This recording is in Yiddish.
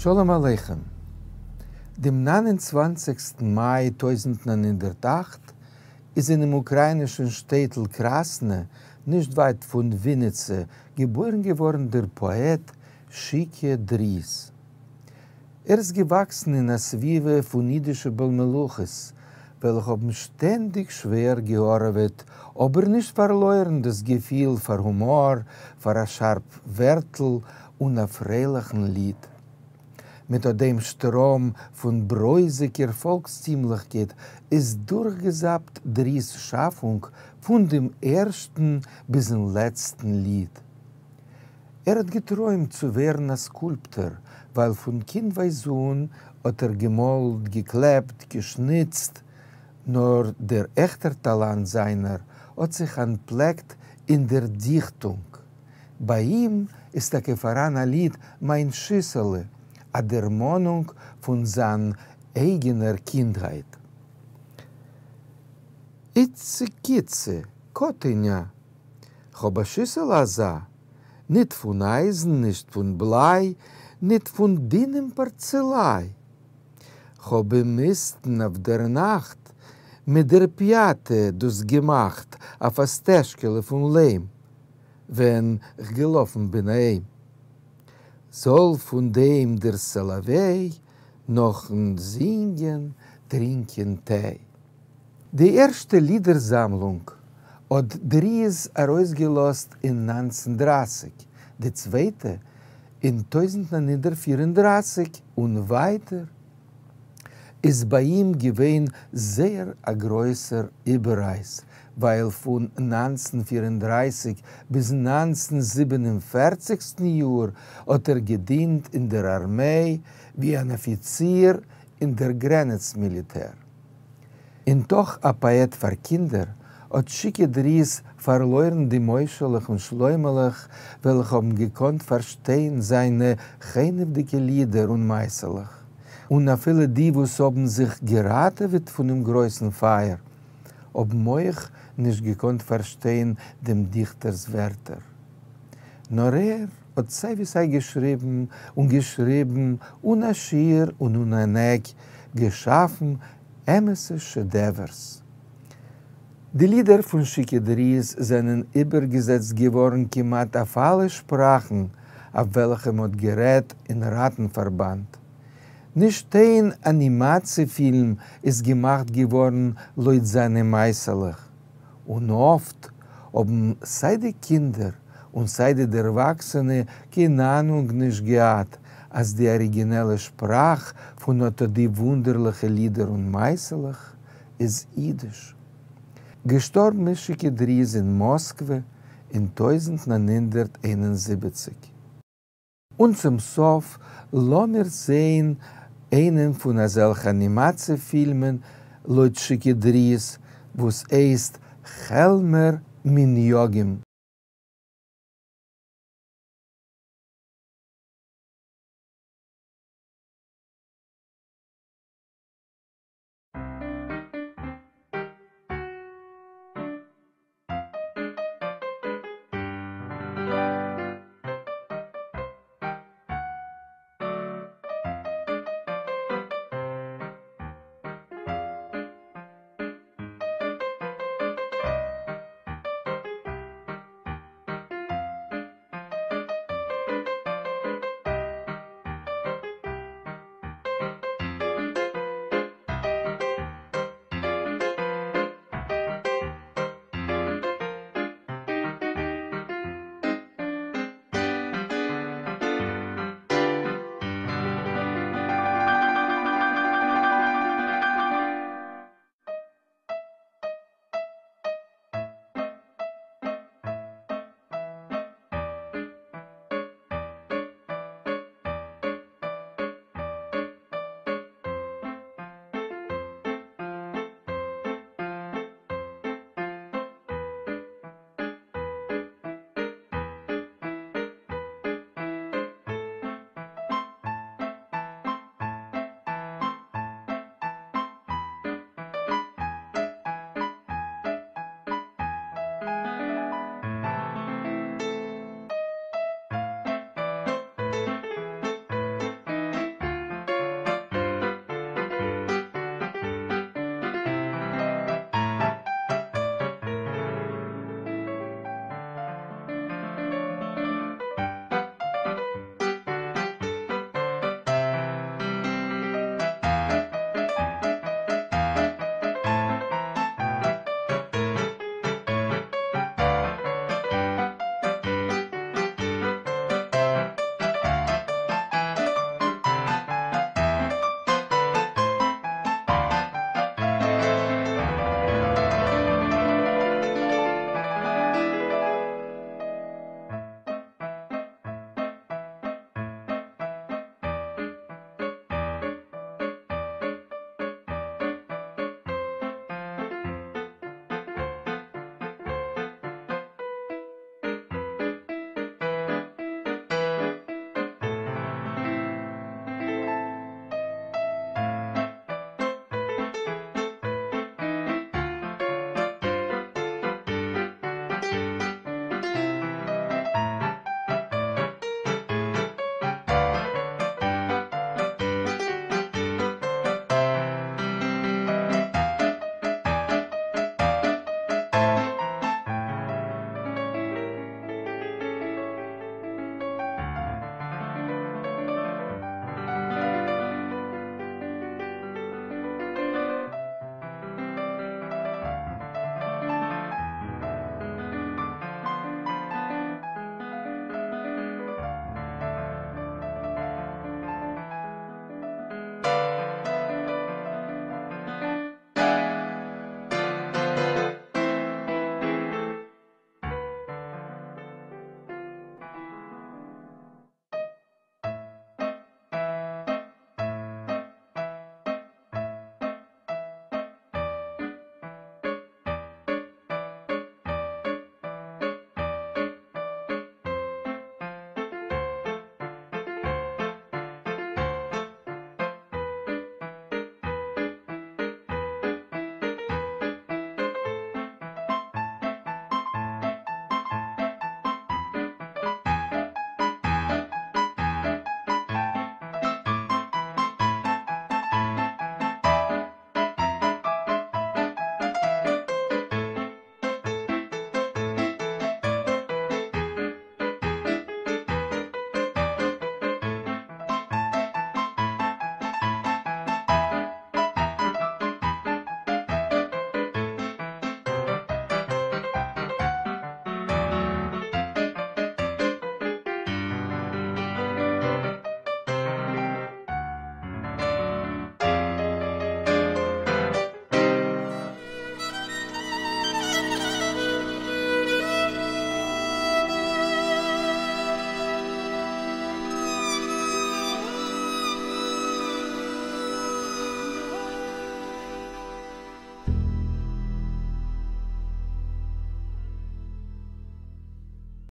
שלום עליכם. דעם 29סטן מאי 1908 איז אינעם אוקראינישן שטעטל קראסנע, נישט ווייט פון וויניצע, געבוירן געווארן דער פאעט שיקע דריז. ער איז געוואקסן אין א סביבה פון אידישע בעל מלאכות, וועלכע האבן שטענדיג שווער געהארעוועט, אבער נישט פארלוירן דאס געפיל פאר הומאר, פאר א שארף ווערטל און א פרייליכן ליד. מיט אט דעם שטראם פון ברויזיגער פאלקסטימליכקייט איז דורכגעזאפט דריז שאפונג פון דעם ערשטן ביזן לעצטן ליד. ער האט געטרוימט צו ווערן א סקולפטאר, ווייל פון קינדווייז אן האט ער געמאלט, געקלעפט, געשניצט, נאר דער עכטער טאלאנט זיינער האט זיך אנטפלעקט אין דער דיכטונג. ביי אים איז טאקע פאראן א ליד מיין שיסעלע, א דערמאנונג פון זיין אייגענער קינדהייט. איצע-קיצע, קאטעניא, כ'האב א שיסעלע אזא, ניט פון אייזן, נישט פון בליי, ניט פון דינעם פארצעליי. כ'האב אומיסטן אויף דער נאכט מיט דער פיאטע דאס געמאכט אויף א סטעזשקעלע פון ליים, ווען כ'געלאפן בין אהיים. זאל פון דעם דער סאלאוועי נאכן זינגען טרינקען טיי. די ערשטע לידער-זאַמלונג האָט דריז אַרויסגעלאָזט אין 1930, די צווייטע, אין 1934 און ווייטער איז ביי אים געווען זייער אַ גרויסער איבעררייס, ווייל פון 1934 ביזן 1947סטן יאָר האָט ער געדינט אין דער אַרמיי ווי אַן אָפיציר אין דער גרענעץ-מיליטער. אין תוך א פאעט פאר קינדער, האט שיקע דריז פארלוירן די משה'לעך און שלוימעלעך וועלכע האבן געקאנט פארשטיין זיינע חנעוודיקע לידער און מעשה'לעך, און אפילו די וואס האבן זיך געראטעוועט פונעם גרויסן פייער האבן אויך נישט געקאנט פארשטיין דעם דיכטער'ס ווערטער. נאר ער האט סיי ווי סיי געשריבן און געשריבן אן א שיעור און אן אן עק, געשאפן אמת'ע שעדעווערס. די לידער פון שיקע דריז זענען איבערגעזעצט געווארן כמעט אויף אלע שפראכן אויף וועלכע מ'האט גערעדט אין ראטן-פארבאנד. נישט איין אנימאציע פילם איז געמאכט געווארן לויט זיינע מעשה'לעך. און אפט האבן סיי די קינדער און סיי די דערוואקסענע קיין אהנונג נישט געהאט אז די אריגינעלע שפראך פון אט די וואונדערליכע לידער און מעשה'לעך איז אידיש. געשטארבן איז שיקע דריז אין מאסקווע אין 1971. און צום סוף לאמיר זעהן איינעם פון אזעלכע אנימאציע פילמען לויט שיקע דריז וואס הייסט כעלמער מנהגים.